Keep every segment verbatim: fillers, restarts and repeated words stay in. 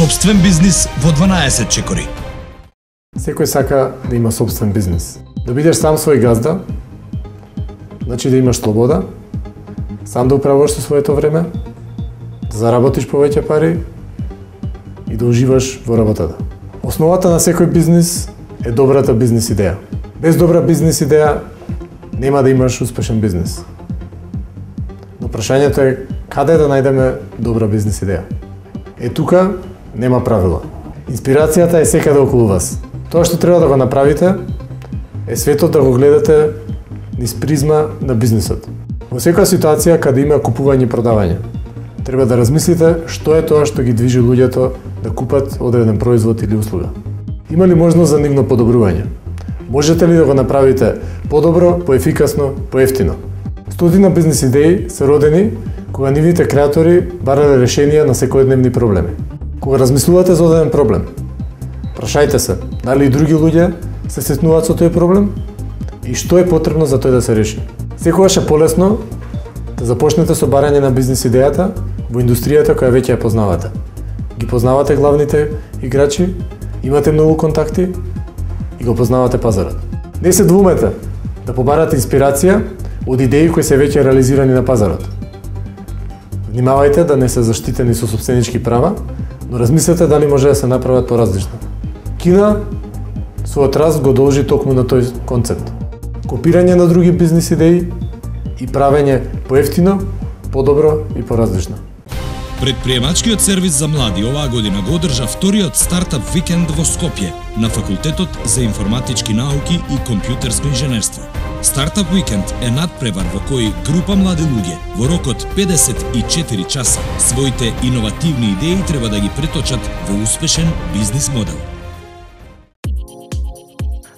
Сопствен бизнис во дванаесет чекори. Секој сака да има сопствен бизнис. Да бидеш сам свој газда, значи да имаш слобода, сам да управуваш со своето време, да заработиш повеќе пари и да уживаш во работата. Основата на секој бизнис е добрата бизнис идеја. Без добра бизнис идеја нема да имаш успешен бизнис. Но прашањето е каде да најдеме добра бизнис идеја. Е тука нема правила. Инспирацијата е секаде околу вас. Тоа што треба да го направите е светот да го гледате низ призма на бизнисот. Во секоја ситуација каде има купување и продавање, треба да размислите што е тоа што ги движи луѓето да купат одреден производ или услуга. Има ли можност за нивно подобрување? Можете ли да го направите подобро, поефикасно, поевтино? Стотина бизнис идеи се родени кога нивните креатори барале решенија на секојдневни проблеми. Кога размислувате за одреден проблем, прашајте се дали и други луѓе се сретнуваат со тој проблем и што е потребно за тој да се реши. Секогаш е полесно да започнете со барање на бизнис идејата во индустријата која веќе ја познавате. Ги познавате главните играчи, имате многу контакти и го познавате пазарот. Не се двумете да побарате инспирација од идеи кои се веќе реализирани на пазарот. Внимавајте да не се заштитени со сопстvenички права, но размислете дали може да се направат поразлично. Кина својот раст го должи токму на тој концепт. Копирање на други бизнис идеи и правење поевтино, подобро и поразлично. Предприемачкиот сервис за млади оваа година го одржа вториот стартап викенд во Скопје на Факултетот за информатички науки и компјутерско инженерство. Стартап викенд е надпревар во кој група млади луѓе во рок од педесет и четири часа своите иновативни идеи треба да ги преточат во успешен бизнис модел.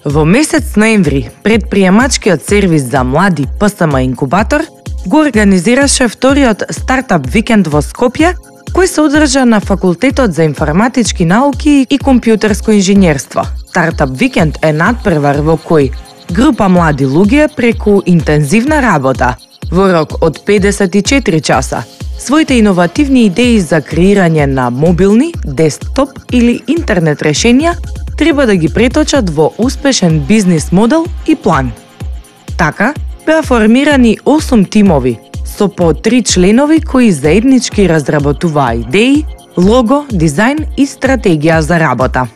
Во месец ноември, предприемачкиот сервис за млади П С М Инкубатор го организираше вториот стартап викенд во Скопје, кој се одржа на Факултетот за информатички науки и компјутерско инженерство. Стартап викенд е надпревар во кој група млади луѓе преку интензивна работа во рок од педесет и четири часа своите иновативни идеи за креирање на мобилни, десктоп или интернет решенија треба да ги преточат во успешен бизнис модел и план. Така, беа формирани осум тимови со по три членови кои заеднички разработуваа идеи, лого, дизајн и стратегија за работа.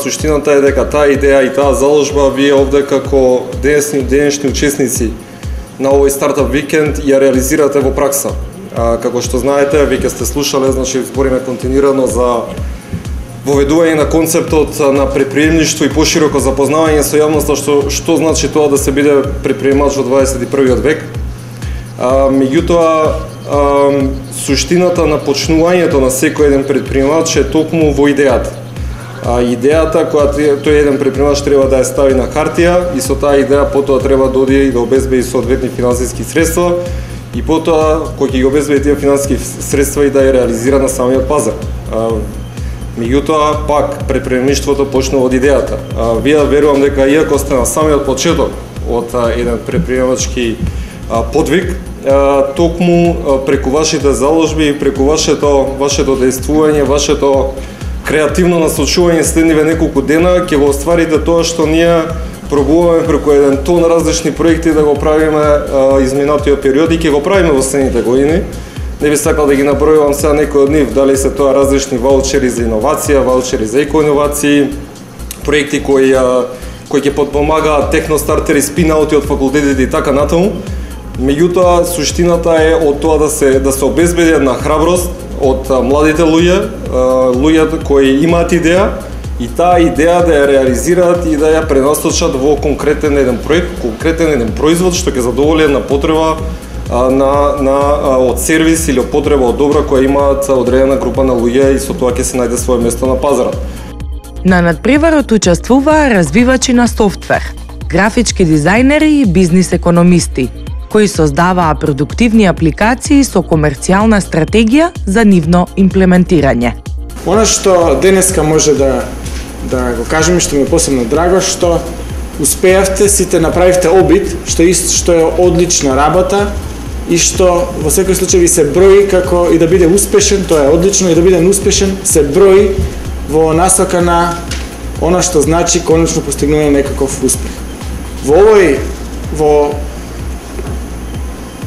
Суштината е дека таа идеја и таа заложба вие овде како денешни, денешни учесници на овој стартап викенд ја реализирате во пракса. А, како што знаете, веќе сте слушале, значи збориме континуирано за воведување на концептот на предприемништво и пошироко запознавање со јавноста што што значи тоа да се биде предприемач во дваесет и првиот век. А, меѓутоа, а, суштината на почнувањето на секој еден предприемач е токму во идејата. А, идејата која тој еден предприемач треба да ја стави на хартија и со таа идеја потоа треба да оди и да обезбеди соодветни финансиски средства и потоа кој ќе ги обезбеди тие финансиски средства и да ја реализира на самиот пазар. А, Меѓутоа, пак, предприемништвото почнува од идејата. А, вие верувам дека иако сте на самиот почеток од а, еден предприемачки а, подвиг, а, токму а, преку вашите заложби и преку вашето, вашето дејствување, вашето креативно насочување следниве неколку дена, ќе го остварите тоа што ние пробуваме преку еден тон различни проекти да го правиме а, изминатиот период и ќе го правиме во следните години. Не би сакал да ги набројувам сега некои од нив, дали се тоа различни ваучери за иновација, ваучери за екоиновации, проекти кои кои ќе подпомагаат техностартери, спинаути од факултетите и така натаму. Меѓутоа, суштината е од тоа да се да се обезбеди една храброст од младите луѓе, луѓе кои имаат идеја и таа идеја да ја реализираат и да ја пренасочат во конкретен еден проект, конкретен еден производ што ќе задоволи една потреба на на од сервис или од потреба од добра која имаат одредена група на луѓе и со тоа ќе се најде свое место на пазарот. На надпреварот учествуваа развивачи на софтвер, графички дизајнери и бизнис економисти, кои создаваа продуктивни апликации со комерцијална стратегија за нивно имплементирање. Она што денеска може да да го кажеме, што ми е посебно драго, што успеавте, сите направивте обид, што ист што е одлична работа и што во секој случај ви се брои како и да биде успешен, тоа е одлично, и да биде успешен се брои во насока на она што значи конечно постигнување некаков успех. Во овој во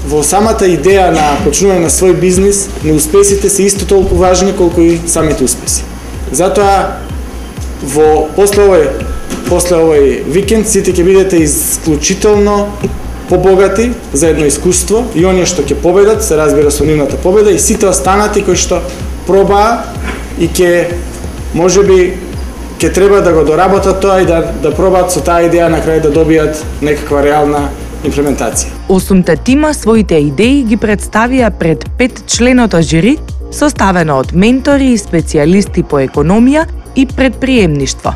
во самата идеја на почнување на свој бизнис, неуспесите се исто толку важни колку и самите успеси. Затоа во после овој после овој викенд сите ќе бидете исклучително побогати за едно искуство и оние што ќе победат, се разбира со нивната победа, и сите останати кои што пробаа и ќе можеби ќе треба да го доработат тоа и да да пробаат со таа идеја на крај да добијат некаква реална имплементација. Осумте тима своите идеи ги представија пред петчленото жири, составено од ментори и специјалисти по економија и предприемништво.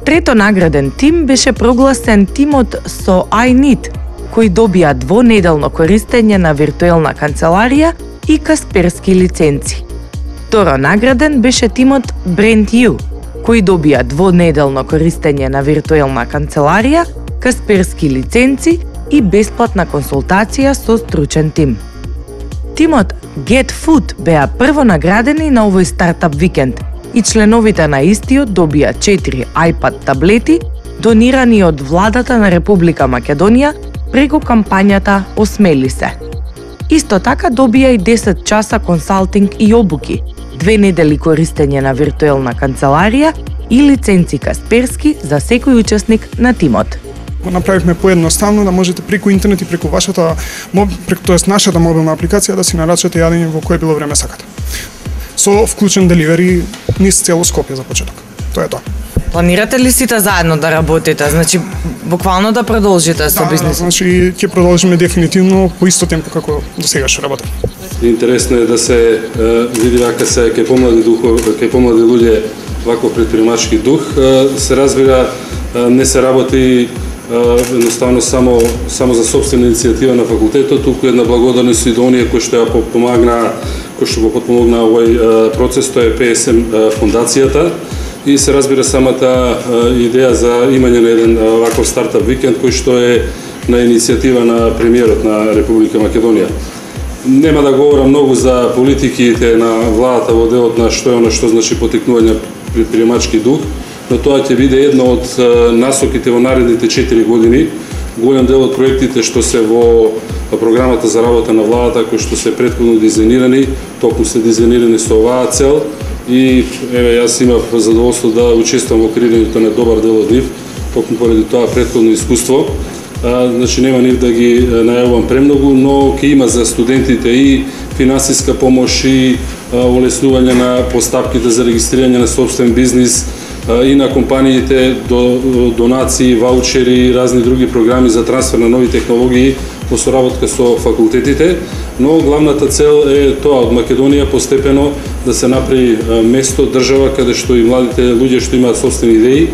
Трето награден тим беше прогласен тимот со iNeed, кои добија двонеделно користење на виртуелна канцеларија и касперски лиценци. Второ награден беше тимот BrandU, кои добија двонеделно користење на виртуелна канцеларија, касперски лиценци и бесплатна консултација со стручен тим. Тимот Get Food беа прво наградени на овој стартап викенд и членовите на истиот добија четири iPad таблети донирани од владата на Република Македонија преку кампањата Осмели се. Исто така добија и десет часа консалтинг и обуки, две недели користење на виртуелна канцеларија и лиценци касперски за секој учесник на тимот. Го направивме поедноставно да можете преку интернет и преку вашата преку тоест нашата мобилна апликација да си нарачате јадење во кое било време сакате. Со вклучен деливери низ цело Скопје за почеток. Тоа е тоа. Планирате ли сите заедно да работите? Значи, буквално да продолжите со да, бизнисот? Да, значи ќе продолжиме дефинитивно по исто темпо како до сега што работам. Интересно е да се е, види вака се кај помлади духови, кај помлади луѓе ваков предприемачки дух, е, се разбира е, не се работи едноставно само само за сопствена иницијатива на факултетот, туку една благодарност и до оние кои што ја помогна, кои што го потпомогна овој процес, тоа е Пе Ес Ем фондацијата, и се разбира самата идеја за имање на еден ваков стартап викенд кој што е на иницијатива на премиерот на Република Македонија. Нема да говорам многу за политиките на владата во делот на што е она што значи потекнување предприемачки дух, но тоа ќе биде една од насоките во наредните четири години. Голем дел од проектите што се во програмата за работа на владата, кои што се претходно дизајнирани, токму се дизајнирани со оваа цел, и еве јас имав задоволство да учествувам во креирањето на добар дел од нив, токму поради тоа претходно искуство. А, значи нема нив да ги најавувам премногу, но ќе има за студентите и финансиска помош и олеснување на постапките за регистрирање на собствен бизнис, и на компаниите до донации, ваучери и разни други програми за трансфер на нови технологии во соработка со факултетите, но главната цел е тоа од Македонија постепено да се направи место, држава каде што и младите луѓе што имаат собствени идеи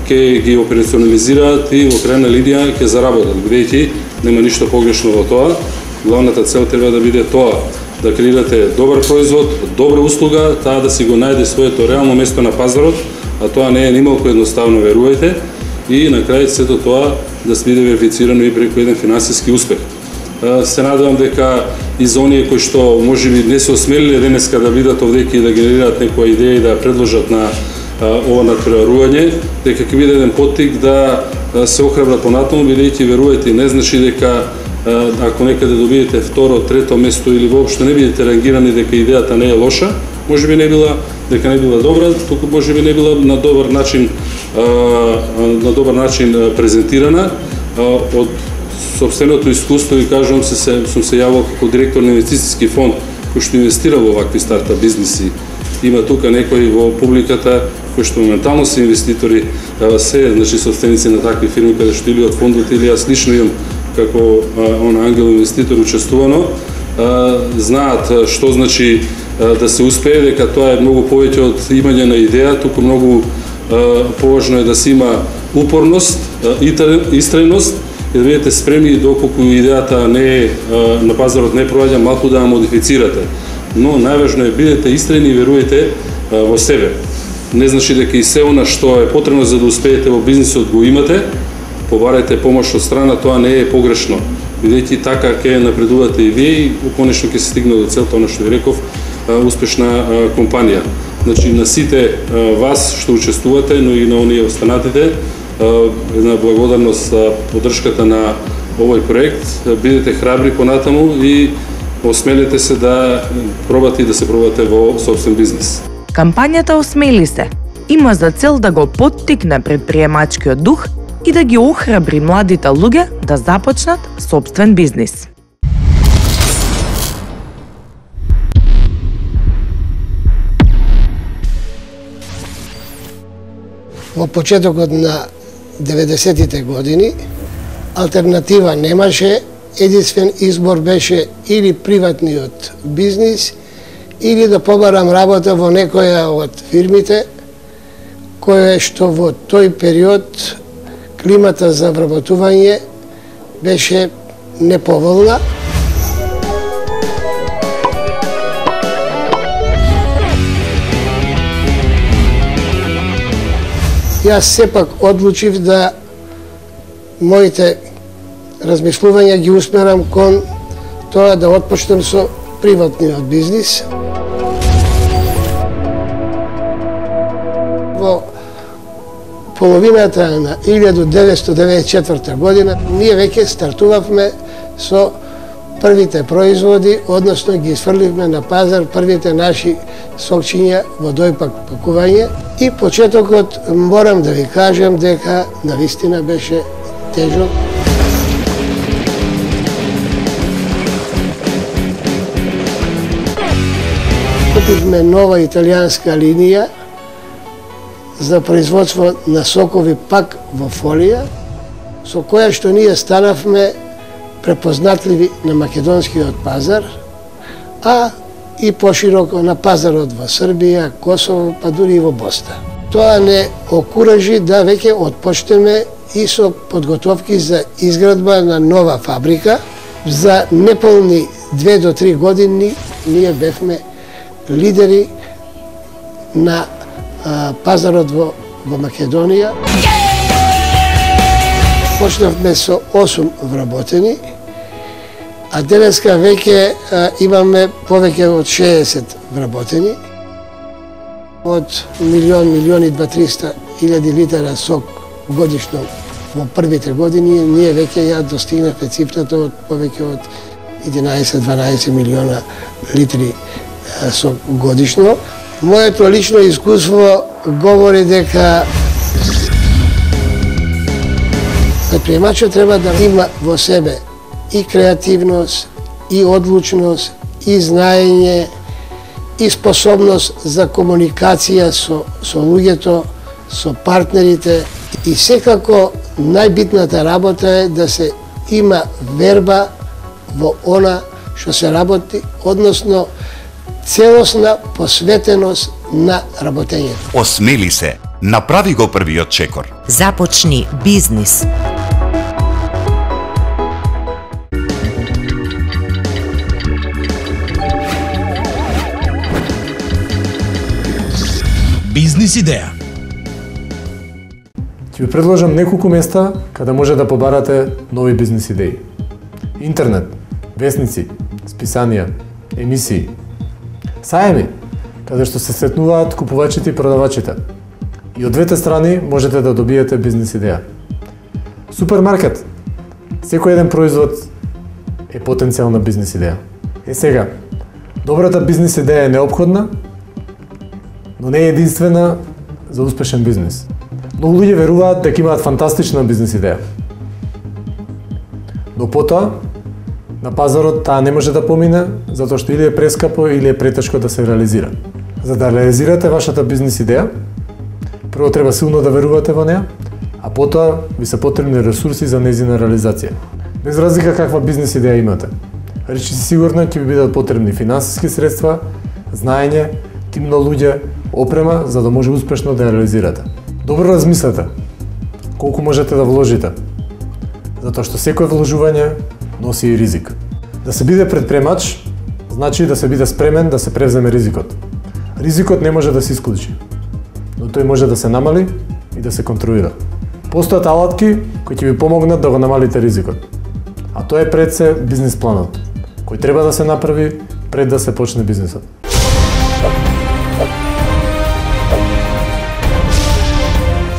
ќе ги операционализираат и во крајна линија ќе заработат, бидејќи нема ништо погрешно во тоа. Главната цел треба да биде тоа, да креирате добар производ, добра услуга, таа да си го најде своето реално место на пазарот, а тоа не е нималку едноставно, верувајте, и на крај сето тоа да се биде верифицирано и преку еден финансиски успех. Се надевам дека и за оние кои што можеби не се осмелиле денеска да бидат овдеки и да генерираат некоја идеја и да ја предложат на ова натпреварување, дека ќе биде еден поттик да се охрабрат понатаму, бидејќи верувајте, не значи дека ако некаде добиете второ, трето место или воопшто не бидете рангирани дека идејата не е лоша, можеби не била дека не била добра, туку можеби не била на добар начин на добар начин презентирана. Од собственото искуство и кажувам се, се сум се јавил како директор на инвестициски фонд кој што инвестира во вакви стартап бизниси. Има тука некои во публиката кои што моментално се инвеститори, се значи собственици на такви фирми каде што или од фондот или јас лично имам како он ангел инвеститор учествувано, знаат што значи да се успее, дека тоа е многу повеќе од имање на идеја, туку многу поважно е да се има упорност, истрајност и да бидете спремни доколку идејата не е на пазарот не проаѓа, малку да ја модифицирате. Но најважно е бидете истрајни и верувајте во себе. Не значи дека и се она што е потребно за да успеете во бизнисот го имате, побарајте помош од страна, тоа не е погрешно. бидејќи така ќе напредувате и вие и конечно ќе се стигне до целта, она што ви реков, успешна компанија. Значи на сите вас што учествувате, но и на оние останатите, една благодарност за поддршката на овој проект. Бидете храбри понатаму и осмелете се да пробате и да се пробате во собствен бизнес. Кампањата Осмели се има за цел да го поттикне предприемачкиот дух и да ги охрабри младите луѓе да започнат собствен бизнис. Во почетокот на деветдесетите години алтернатива немаше, единствен избор беше или приватниот бизнис или да побарам работа во некоја од фирмите која што во тој период климата за вработување беше неповолна. Јас сепак одлучив да моите размислувања ги усмерам кон тоа да отпочнем со приватниот бизнис. Во половината на илјада деветстотини деветдесет и четврта година ние веќе стартувавме со првите производи, односно ги изфрливме на пазар првите наши сокчиња во дојпак пакување. И почетокот морам да ви кажам дека навистина беше тежок. Купивме нова италијанска линија за производство на сокови пак во фолија, со која што ние станавме препознатливи на македонскиот пазар, а и пошироко на пазарот во Србија, Косово, па дури и во Босна. Тоа не окуражи да веќе отпочнеме и со подготовки за изградба на нова фабрика. За неполни две до три години ние бевме лидери на а, пазарот во, во Македонија. Почнавме со осум вработени, а денеска веќе а, имаме повеќе од шеесет вработени. Од милион, милион и дваста илјади литра сок годишно во првите години, ние веќе ја достигнавме цифрата од повеќе од единаесет до дванаесет милиона литри а, сок годишно. Моето лично искуство говори дека предприемачот треба да има во себе и креативност, и одлучност, и знаење, и способност за комуникација со, со луѓето, со партнерите. И секако најбитната работа е да се има верба во она што се работи, односно целосна посветеност на работењето. Осмели се, направи го првиот чекор. Започни бизнис. Бизнис идеја. Ќе ви предложам неколку места каде може да побарате нови бизнис идеи. Интернет, весници, списанија, емисии, сајми, каде што се сретнуваат купувачите и продавачите. И од двете страни можете да добиете бизнис идеја. Супермаркет. Секој еден производ е потенцијална бизнис идеја. Е сега, добрата бизнис идеја е неопходна, но не е единствена за успешен бизнис. Многу луѓе веруваат дека имаат фантастична бизнис идеја. Но потоа, на пазарот таа не може да помине, затоа што или е прескапо или е претешко да се реализира. За да реализирате вашата бизнис идеја, прво треба силно да верувате во неа, а потоа ви се потребни ресурси за нејзина реализација. Без разлика каква бизнис идеја имате. Речи си сигурно ќе ви бидат потребни финансиски средства, знаење, тим на луѓе, опрема, за да може успешно да ја реализирате. Добро размислете колку можете да вложите, затоа што секој вложување носи и ризик. Да се биде предприемач, значи да се биде спремен да се превземе ризикот. Ризикот не може да се исклучи, но тој може да се намали и да се контролира. Постојат алатки кои ќе ви помогнат да го намалите ризикот. А тоа е пред се бизнис планот, кој треба да се направи пред да се почне бизнисот.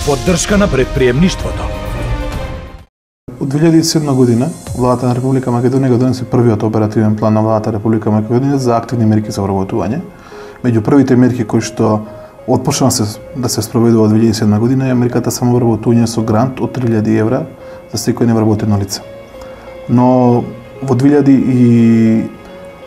Поддршка на предприемништвото. Од две илјади и седма година, владата на Република Македонија го донесе првиот оперативен план на владата на Република Македонија за активни мерки за вработување. Меѓу првите мерки кои што отпочна се, да се спроведува од две илјади и седма година е мерката самовработување со грант од три илјади евра за секој невработено лице. Но во две илјади и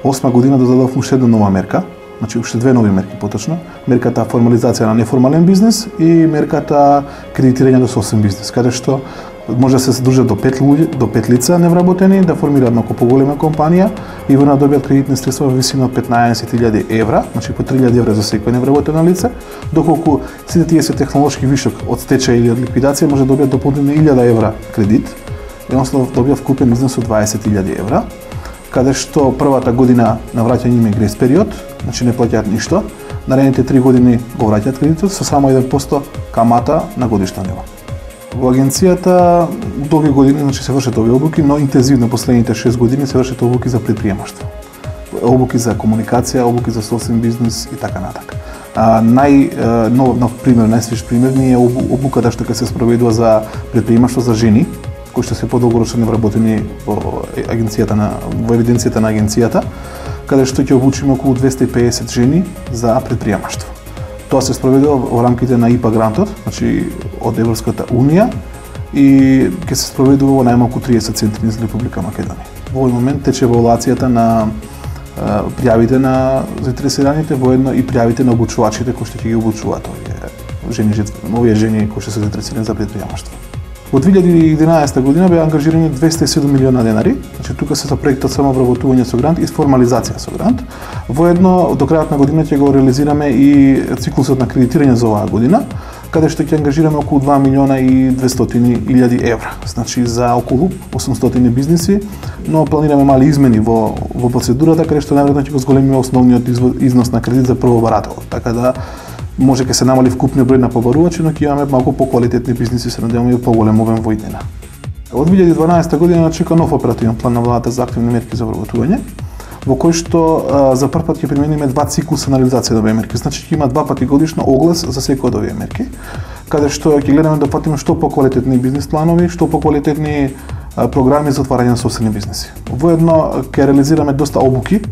осма година додадовме уште една нова мерка, значи уште две нови мерки поточно, мерката формализација на неформален бизнес и мерката кредитирање до собствен бизнес, каде што може да се задружат до пет луѓе, до пет лица невработени, да формираат малку поголема компанија и во добијат кредитни средства во висина од петнаесет илјади евра, значи по три илјади евра за секој невработено лице, доколку сите тие се технолошки вишок од стечај или од ликвидација може да добијат дополнително илјада евра кредит, едноставно добијат вкупен износ од дваесет илјади евра, каде што првата година на враќање им е грес период, значи не плаќаат ништо, наредните три години го враќаат кредитот со само еден процент камата на годишно ниво. Во агенцијата долги години значи се вршат овие обуки, но интензивно последните шест години се вршат обуки за предприемаштво. Обуки за комуникација, обуки за собствен бизнес и така натака. А, нај нов, нов пример, најсвеж пример ни е обуката што ќе се спроведува за предприемаштво за жени, кои што се подолгорочно невработени во агенцијата на во евиденцијата на агенцијата, каде што ќе обучиме околу двесте и педесет жени за предприемаштво. Тоа се спроведува во рамките на ИПА грантот, значи од Европската унија и ќе се спроведува во најмалку триесет центри низ Република Македонија. Во овој момент тече евалуацијата на а, пријавите на заинтересираните, воедно и пријавите на обучувачите кои што ќе ги обучуваат овие жени, овие жени кои што се заинтересирани за предприемаштво. Во две илјади и единаесета година беа ангажирани двесте и седум милиона денари, значи тука се за проектот самовработување со грант и формализација со грант. Воедно до крајот на година ќе го реализираме и циклусот на кредитирање за оваа година, каде што ќе ангажираме околу два милиона и двестотини илјади евра, значи за околу осумстотини бизниси, но планираме мали измени во во процедурата каде што најверојатно ќе го зголемиме основниот износ на кредит за првобарател, така да може ќе се намали вкупниот број на побарувачи, но ќе имаме малку поквалитетни бизниси, се надеваме и поголем обем во иднина. Од две илјади и дванаесета година чека нов оперативен план на владата за активни мерки за вработување, во кој што а, за прв пат ќе примениме два циклуса на реализација на овие мерки. Значи ќе има два пати годишно оглас за секој од овие мерки, каде што ќе гледаме да фатиме што поквалитетни бизнис планови, што поквалитетни а, програми за отварање на собствени бизниси. Воедно ќе реализираме доста обуки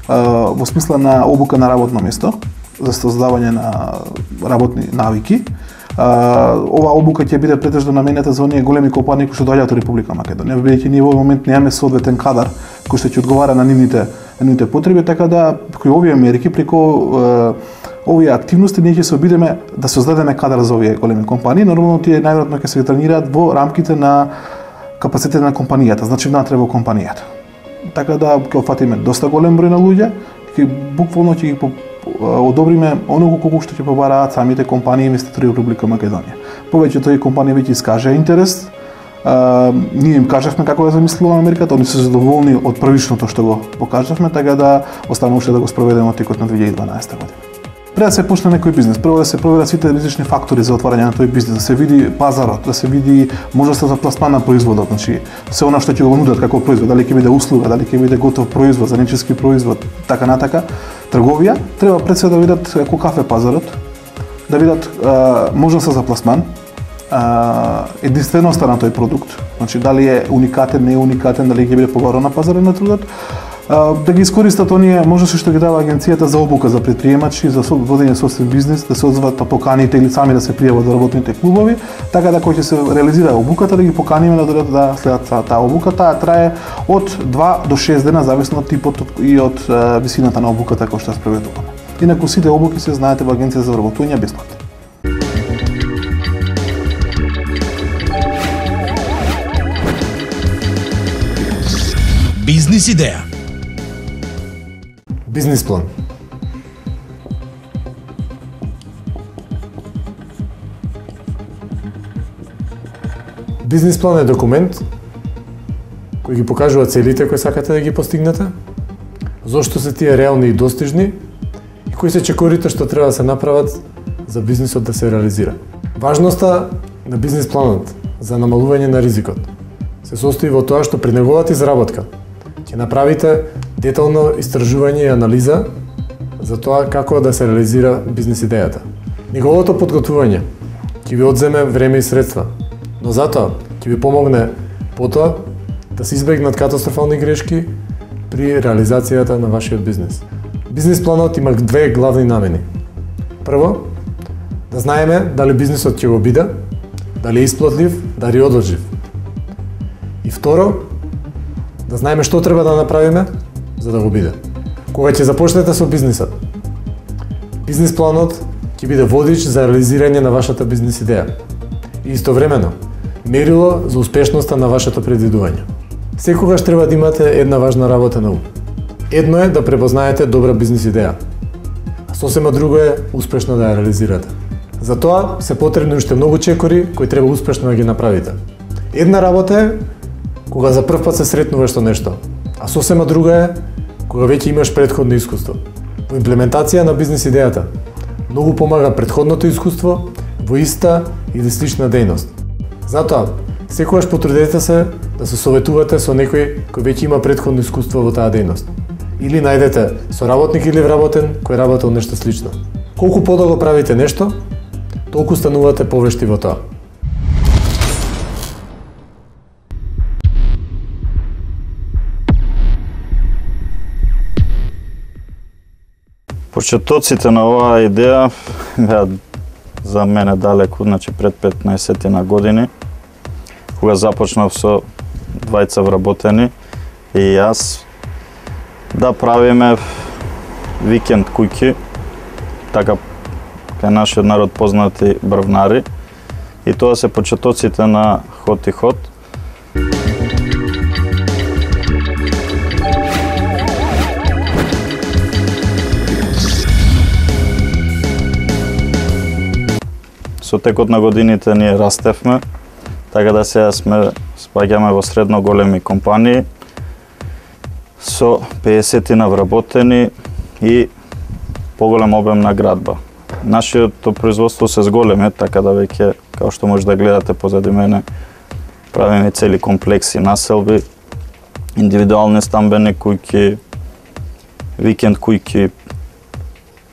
а, во смисла на обука на работно место за создавање на работни навики. Uh, ова обука ќе биде претежно наменета за оние големи компании кои што доаѓаат од Република Македонија, бидејќи ние во овој момент немаме соодветен кадар кој што ќе одговара на нивните, на нивните потреби, така да преку овие мерки, преку uh, овие активности ние ќе се обидеме да создадеме кадар за овие големи компании. Нормално тие најверојатно ќе се тренираат во рамките на капацитет на компанијата, значи внатре во компанијата. Така да ќе офатиме доста голем број на луѓе, ќе буквално ќе ги одобриме оного колку што ќе побараат самите компании и инвеститори во Република Македонија. Повеќето и компании веќе искажаа интерес. А, ние им кажавме како да замислуваме мерката, они се задоволни од првичното што го покажавме, така да останува уште да го спроведеме од текот на две илјади и дванаесета година. Пред да се почне некој бизнес, прво да се проверат сите различни фактори за отварање на тој бизнес, да се види пазарот, да се види можноста за пласман на производот, значи се она што ќе го нудат како производ, дали ќе биде услуга, дали ќе биде готов производ, занечиски производ, така натака, трговија, треба пред се да видат каков е пазарот, да видат а, можноста за пласман, а, единственоста на тој продукт, значи дали е уникатен, не е уникатен, дали ќе биде побаран на пазарот на трудот, да ги искористат оние можности што ги дава агенцијата за обука за предприемачи, за водење собствен бизнес, да се одзват поканите или сами да се пријават во работните клубови, така да кога ќе се реализира обуката да ги поканиме да дојдат да следат таа обука. Таа трае од два до шест дена зависно од типот и од uh, висината на обуката која што ја спроведуваме. Инаку сите обуки се знаете во агенција за вработување бесплатни. Бизнис идеја. Бизнис план. Бизнис план е документ кој ги покажува целите кои сакате да ги постигнете, зошто се тие реални и достижни и кои се чекорите што треба да се направат за бизнисот да се реализира. Важноста на бизнис планот за намалување на ризикот, се состои во тоа што при неговата изработка ќе направите детално истражување и анализа за тоа како да се реализира бизнис идејата. Неговото подготвување ќе ви одземе време и средства, но затоа ќе ви помогне потоа да се избегнат катастрофални грешки при реализацијата на вашиот бизнис. Бизнис планот има две главни намени. Прво, да знаеме дали бизнисот ќе го биде, дали е исплатлив, дали е одлажлив. И второ, да знаеме што треба да направиме за да го биде. Кога ќе започнете со бизнисот, бизнис планот ќе биде водич за реализирање на вашата бизнис идеја и истовремено мерило за успешноста на вашето предвидување. Секогаш треба да имате една важна работа на ум. Едно е да препознаете добра бизнис идеја, а сосема друго е успешно да ја реализирате. За тоа се потребни уште многу чекори кои треба успешно да ги направите. Една работа е кога за прв пат се сретнуваш со нешто, а сосема друга е кога веќе имаш претходно искуство. Во имплементација на бизнис идејата многу помага претходното искуство во иста или слична дејност. Затоа, секогаш потрудете се да се советувате со некој кој веќе има претходно искуство во таа дејност. Или најдете соработник или вработен кој работел нешто слично. Колку подолго правите нешто, толку станувате повешти во тоа. Почетоците на оваа идеја беа за мене далеку, значи пред петнаесет на години, кога започнав со двајца вработени и јас да правиме викенд куќи, така кај нашиот народ познати брвнари, и тоа се почетоците на Хот и Хот. Со текот на годините ние растевме, така да сега сме спаѓаме во средно големи компании со пеесет на вработени и поголем обем на градба. Нашиото производство се зголеме, така да веќе, као што може да гледате позади мене, правиме цели комплекси населби, индивидуални стамбени куќи, викенд куќи.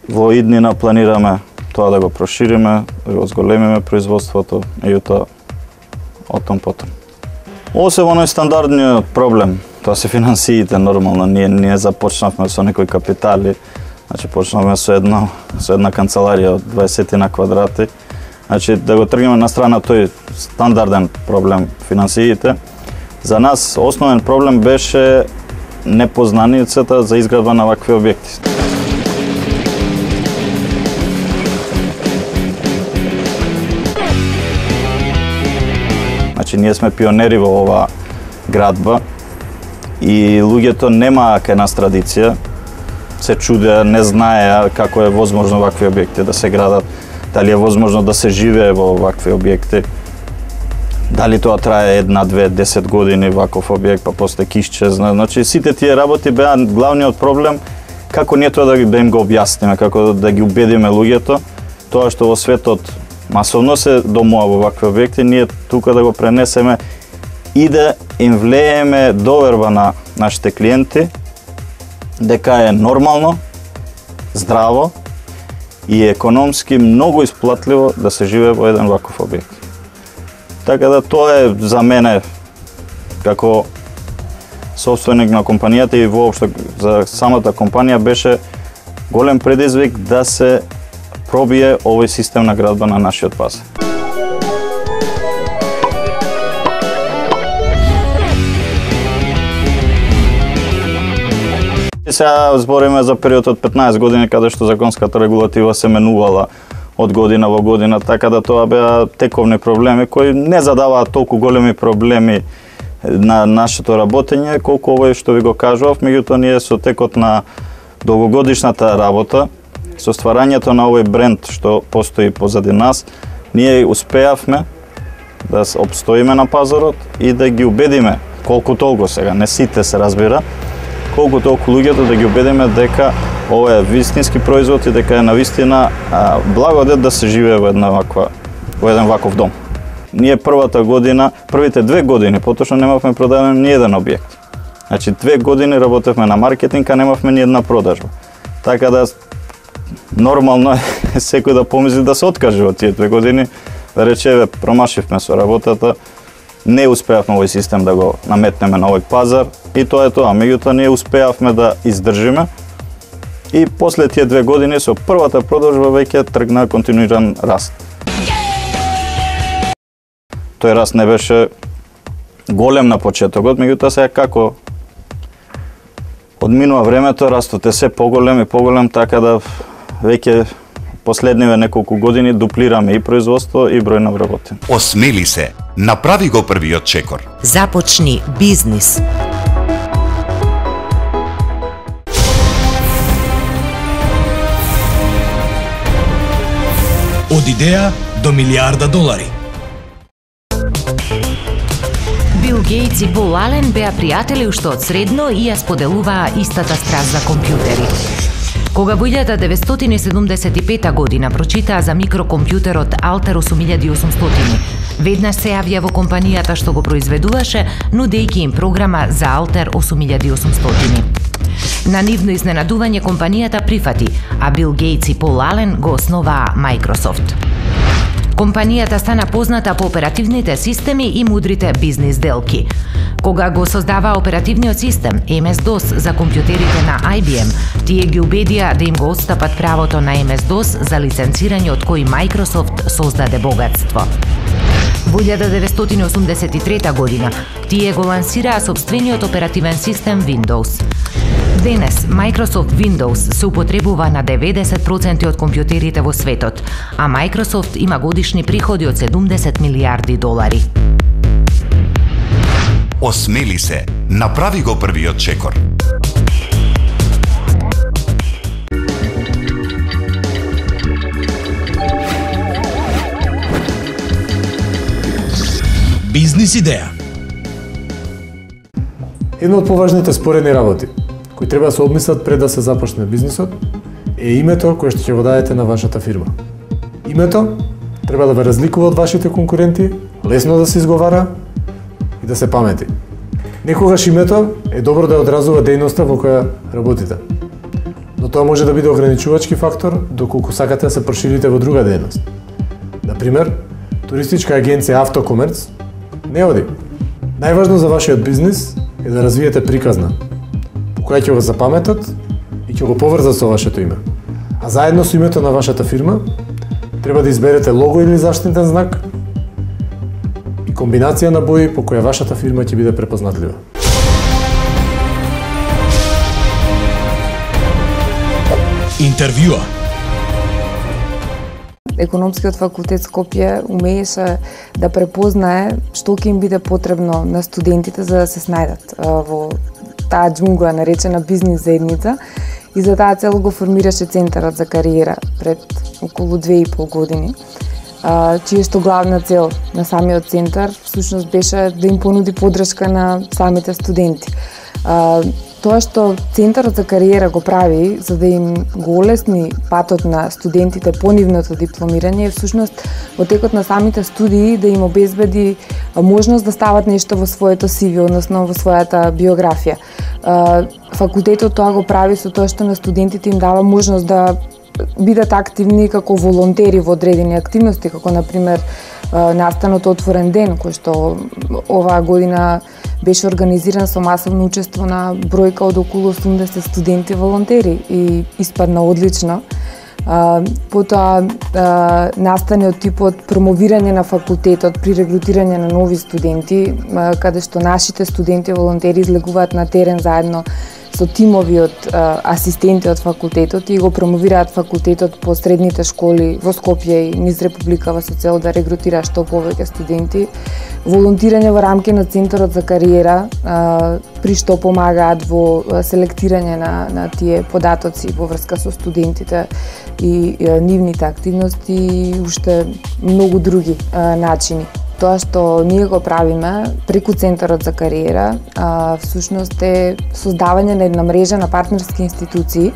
Во иднина планираме тоа да го прошириме, да го зголемиме производството и тоа отом потом. Ово се во најстандардниот проблем, тоа се финансиите нормално. Ние ние започнавме со некои капитали, значи почнавме со една со една канцеларија од дваесет на квадрати. Значи да го тргнеме на страна тој стандарден проблем финансиите. За нас основен проблем беше непознаницата за изградба на вакви објекти. Значи, ние сме пионери во оваа градба и луѓето немаа кај нас традиција, се чудеа, не знаеа како е возможно вакви објекти да се градат, дали е возможно да се живее во вакви објекти, дали тоа трае една, две, десет години ваков објект, па после ќе исчезне. Значи, сите тие работи беа главниот проблем, како ние тоа да, да им го објасниме, како да ги убедиме луѓето, тоа што во светот масовно се домува во вакви објекти, ние тука да го пренесеме и да им влееме доверба на нашите клиенти дека е нормално, здраво и економски многу исплатливо да се живее во еден ваков објект. Така да тоа е за мене како собственик на компанијата и воопшто за самата компанија беше голем предизвик да се пробие овој систем на градба на нашиот пазар. Сега збориме за период од петнаесет години каде што законската регулатива се менувала од година во година, така да тоа беа тековни проблеми кои не задаваат толку големи проблеми на нашето работење колку овој што ви го кажував, меѓутоа ние со текот на долгогодишната работа, со стварањето на овој бренд што постои позади нас, ние успеавме да обстоиме на пазарот и да ги убедиме колку толку сега, не сите се разбира, колку толку луѓето да ги убедиме дека ова е вистински производ и дека е навистина благодет да се живее во една ваква, во еден ваков дом. ние првата година, првите две години, поточно немавме продаден ни еден објект. Значи, две години работевме на маркетинг, а немавме ни една продажба. Така да, нормално е секој да помисли да се откаже од тие две години, да рече, промашивме со работата, не успеавме овој систем да го наметнеме на овој пазар и тоа е тоа. Меѓутоа, ние успеавме да издржиме и после тие две години со првата продажба веќе тргна континуиран раст. Тој раст не беше голем на почетокот, меѓутоа сега како одминува времето, растот е се поголем и поголем, така да веќе последниве неколку години дуплираме и производство и број на вработени. Осмели се, направи го првиот чекор. Започни бизнис. Од идеја до милиарда долари. Бил Гейтс и Пол Ален беа пријатели уште од средно и ја споделуваа истата страст за компјутери. Кога во илјада деветстотини седумдесет и пета година прочитаа за микрокомпјутерот Алтер осум илјади и осумстотини, веднаш се јавија во компанијата што го произведуваше, нудејќи им програма за Алтер осум илјади и осумстотини. На нивно изненадување компанијата прифати, а Бил Гейтс и Пол Ален го основаа Microsoft. Компанијата стана позната по оперативните системи и мудрите бизнис делки. Кога го создаваа оперативниот систем Ем Ес Дос за компјутерите на Ай Би Ем, тие ги убедија да им го отстапат правото на Ем Ес Дос за лиценцирање од кој Microsoft создаде богатство. Во илјада деветстотини осумдесет и трета година, тие го лансираа сопствениот оперативен систем Windows. Денес, Microsoft Windows се употребува на деветдесет проценти од компјутерите во светот, а Microsoft има годишни приходи од седумдесет милиарди долари. Осмели се, направи го првиот чекор. Бизнис идеја. Едно од поважните споредни работи кои треба да се обмислат пред да се започне бизнисот е името кое што ќе го дадете на вашата фирма. Името треба да ве разликува од вашите конкуренти, лесно да се изговара и да се памети. Некогаш името е добро да одразува дејноста во која работите, но тоа може да биде ограничувачки фактор доколку сакате да се проширите во друга дејност. Например, туристичка агенција Автокомерц не оди. Најважно за вашиот бизнис е да развиете приказна, по која ќе го запаметат и ќе го поврзат со вашето име. А заедно со името на вашата фирма, треба да изберете лого или заштитен знак и комбинација на бои по која вашата фирма ќе биде препознатлива. Интервјуа. Економскиот факултет Скопје умееше да препознае што ќе им биде потребно на студентите за да се снајдат во таа џунгла наречена бизнис заедница и за таа цел го формираше Центарот за кариера пред околу две и пол години, чија што главна цел на самиот центар всушност беше да им понуди поддршка на самите студенти. Тоа што Центарот за кариера го прави за да им го олесни патот на студентите по нивното дипломирање е всушност во текот на самите студии да им обезбеди можност да стават нешто во своето Си Ви, односно во својата биографија. Факултетот тоа го прави со тоа што на студентите им дава можност да бидат активни како волонтери во одредени активности, како например настанот Отворен ден, кој што оваа година беше организиран со масовно учество на бројка од околу осумдесет студенти волонтери и испадна одлично. Потоа настане од типот промовирање на факултетот при регрутирање на нови студенти, каде што нашите студенти волонтери излегуваат на терен заедно со тимови од асистенти од факултетот и го промовираат факултетот по средните школи во Скопје и низ Републикава со цел да регрутира што повеќе студенти. Волонтирање во рамки на Центарот за кариера, при што помагаат во селектирање на, на тие податоци во врска со студентите и, и нивните активности и уште многу други а, начини. тоа што ние го правиме преку Центарот за кариера, а, всушност е создавање на една мрежа на партнерски институции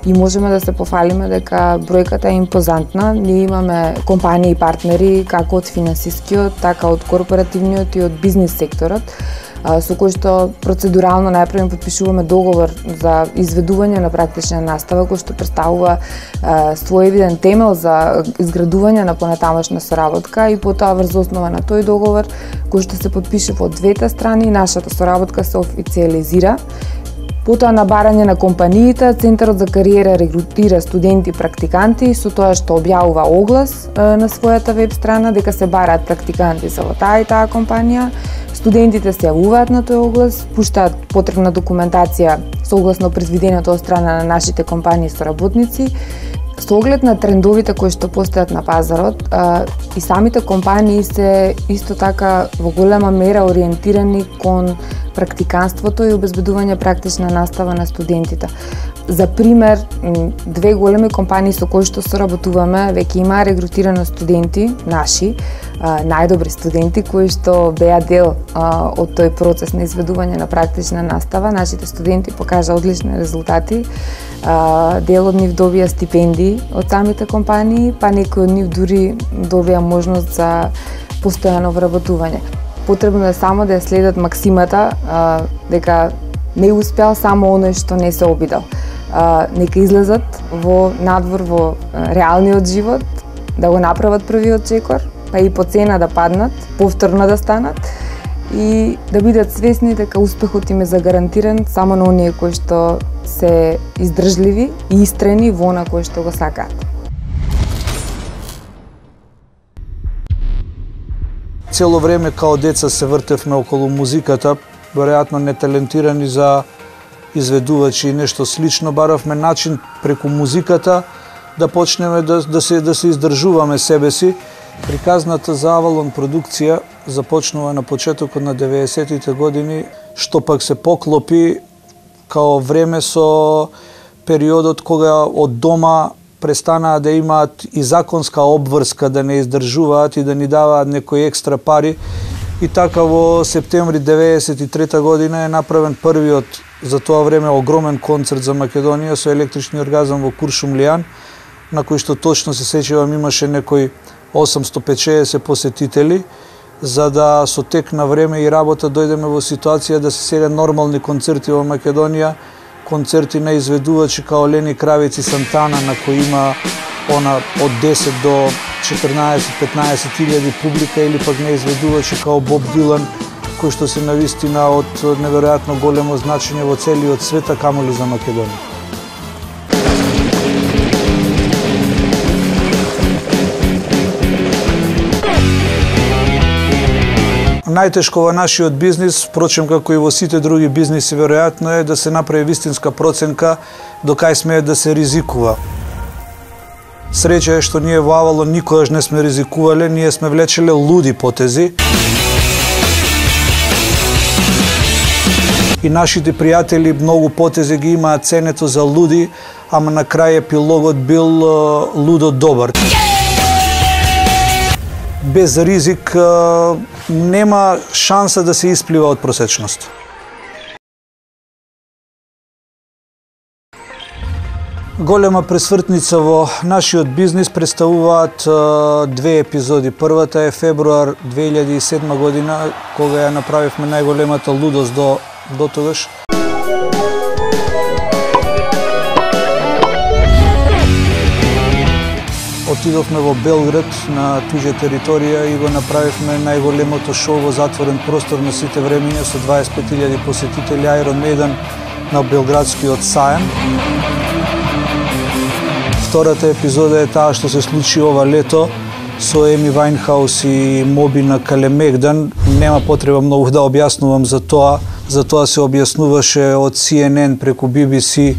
и можеме да се пофалиме дека бројката е импозантна. Ние имаме компании и партнери како од финансискиот, така од корпоративниот и од бизнис секторот, со кој што процедурално најпрво потпишуваме договор за изведување на практична настава, кој што представува своевиден темел за изградување на понатамошна соработка и потоа врз основа на тој договор кој што се потпишува од двете страни, нашата соработка се официализира. Потоа на барање на компаниите, Центарот за кариера регрутира студенти и практиканти со тоа што објавува оглас на својата веб страна дека се бараат практиканти за таа и таа компанија. Студентите се јавуваат на тој оглас, пуштаат потребна документација согласно предвиденото од страна на нашите компании соработници. Со оглед на трендовите кои што постојат на пазарот, а, и самите компании се исто така во голема мера ориентирани кон практиканството и обезбедување практична настава на студентите. За пример, две големи компании со кои што соработуваме веќе имаа регрутирано студенти наши, а, најдобри студенти кои што беа дел а, од тој процес на изведување на практична настава. Нашите студенти покажа одлични резултати. А, дел од нив добија стипендии од самите компании, па некои од нив дури добија можност за постојано вработување. Потребно е само да ја следат максимата а, дека не успеал само оној што не се обидел. А, нека излезат во надвор во а, реалниот живот, да го направат првиот чекор, па и по цена да паднат, повторно да станат и да бидат свесни дека успехот им е загарантиран само на оние кои што се издржливи и истрени во она кој што го сакаат. Цело време као деца се вртевме околу музиката, веројатно неталентирани за изведувачи и нешто слично, баравме начин преку музиката да почнеме да, да, се, да се издржуваме себе си. Приказната за Авалон продукција започнува на почетокот на деветдесетите години, што пак се поклопи као време со периодот кога од дома престанаа да имаат и законска обврска да не издржуваат и да ни даваат некои екстра пари. И така во септември деветдесет и трета година е направен првиот за тоа време огромен концерт за Македонија со електрични оргазам во Куршумлијан, на кој што точно се сеќавам имаше некои осумсто петдесет посетители, за да со тек на време и работа дојдеме во ситуација да се селе нормални концерти во Македонија, концерти на изведувачи као Лени Кравец и Сантана, на кои има она од десет до четрнаесет-петнаесет илјади публика, или пак на изведувачи као Боб Дилан, кои што се навистина од неверојатно големо значење во целиот свет, а камоли за Македонија. Најтешко во нашиот бизнис, впрочем како и во сите други бизниси веројатно, е да се направи вистинска проценка до кај смее да се ризикува. Среќа е што ние во Авалон никогаш не сме ризикувале, ние сме влечеле луди потези. И нашите пријатели многу потези ги имаат ценето за луди, ама на крај епилогот бил лудо добар. Без ризик нема шанса да се исплива од просечност. Голема пресвртница во нашиот бизнис представуваат две епизоди. Првата е февруар две илјади и седма година, кога ја направивме најголемата лудост до, до тогаш. Отидовме во Белград на туѓа територија и го направивме најголемото шоу во затворен простор на сите времиња со дваесет и пет илјади посетители, Iron Maiden на Белградскиот саем. Втората епизода е таа што се случи ова лето со Еми Вајнхаус и Моби на Калемегдан. Нема потреба многу да објаснувам за тоа. За тоа се објаснуваше од Си Ен Ен преку Би Би Си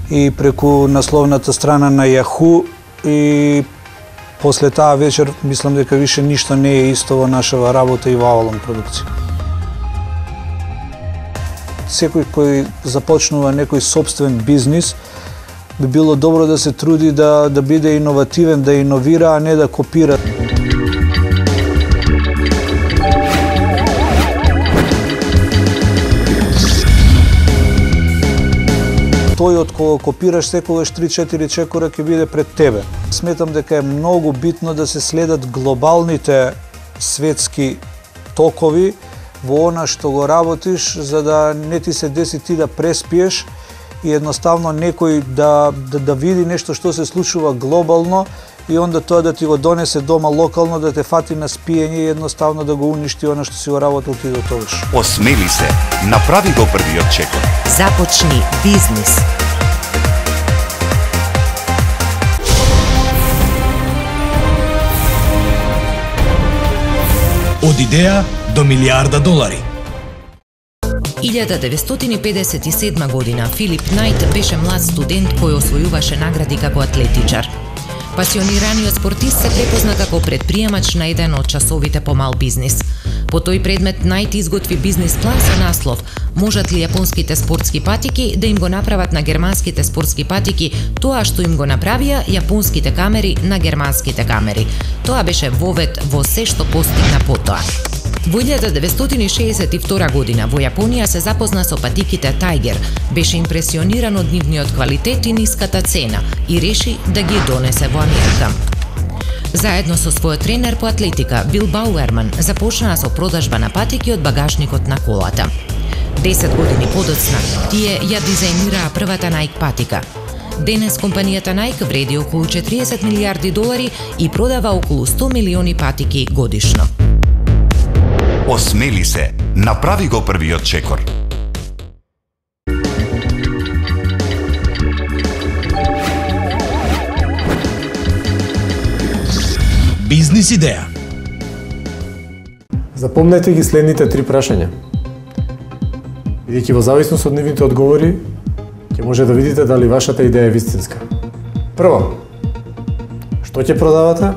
и преку насловната страна на Yahoo. И после таа вечер мислам дека више ништо не е исто во нашава работа и во Авалон продукција. Секој кој започнува некој собствен бизнис би било добро да се труди да, да биде иновативен, да иновира, а не да копира. тој од кого копираш секогаш три-четири чекора ќе биде пред тебе. Сметам дека е многу битно да се следат глобалните светски токови во она што го работиш, за да не ти се деси ти да преспиеш и едноставно некој да, да, да види нешто што се случува глобално и онда тоа да ти го донесе дома локално, да те фати на спиење и едноставно да го уништи она што си го работил ти до тогаш. Осмели се, направи го првиот чекор. Започни бизнис. Од идеја до милиарда долари. илјада деветстотини педесет и седма година Филип Најт беше млад студент кој освојуваше награди како атлетичар. Пасионираниот спортист се препозна како предприемач на еден од часовите по мал бизнис. По тој предмет Најт изготви бизнис план со наслов "Можат ли јапонските спортски патики да им го направат на германските спортски патики тоа што им го направија јапонските камери на германските камери?" Тоа беше вовед во се што постигна потоа. Во илјада деветстотини шеесет и втора година во Јапонија се запозна со патиките Тајгер, беше импресиониран од нивниот квалитет и ниската цена и реши да ги донесе во Америка. Заедно со својот тренер по атлетика Бил Бауерман започнаа со продажба на патики од багажникот на колата. Десет години подоцна тие ја дизајнираа првата Nike патика. Денес компанијата Nike вреди околу четириесет милијарди долари и продава околу сто милиони патики годишно. Осмели се, направи го првиот чекор. Бизнис идеја. Запомнете ги следните три прашања. Бидејќи во зависност од нивните одговори, ќе може да видите дали вашата идеја е вистинска. Прво, што ќе продавате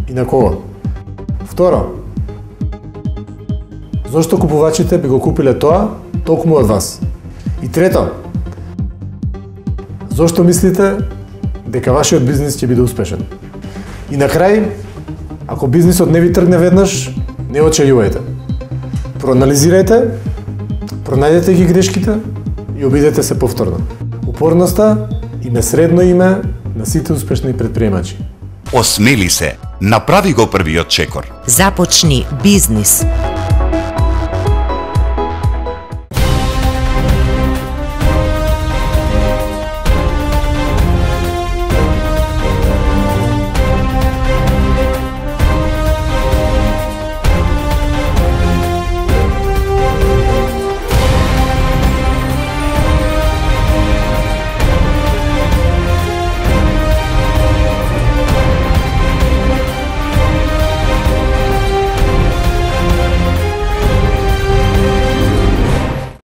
и на кого? Второ, зошто купувачите би го купиле тоа токму од вас? И трето, зошто мислите дека вашиот бизнис ќе биде успешен? И на крај, ако бизнисот не ви тргне веднаш, не очајувајте. Проанализирајте, пронајдете ги грешките и обидете се повторно. Упорноста име средно име на сите успешни предприемачи. Осмели се, направи го првиот чекор. Започни бизнис.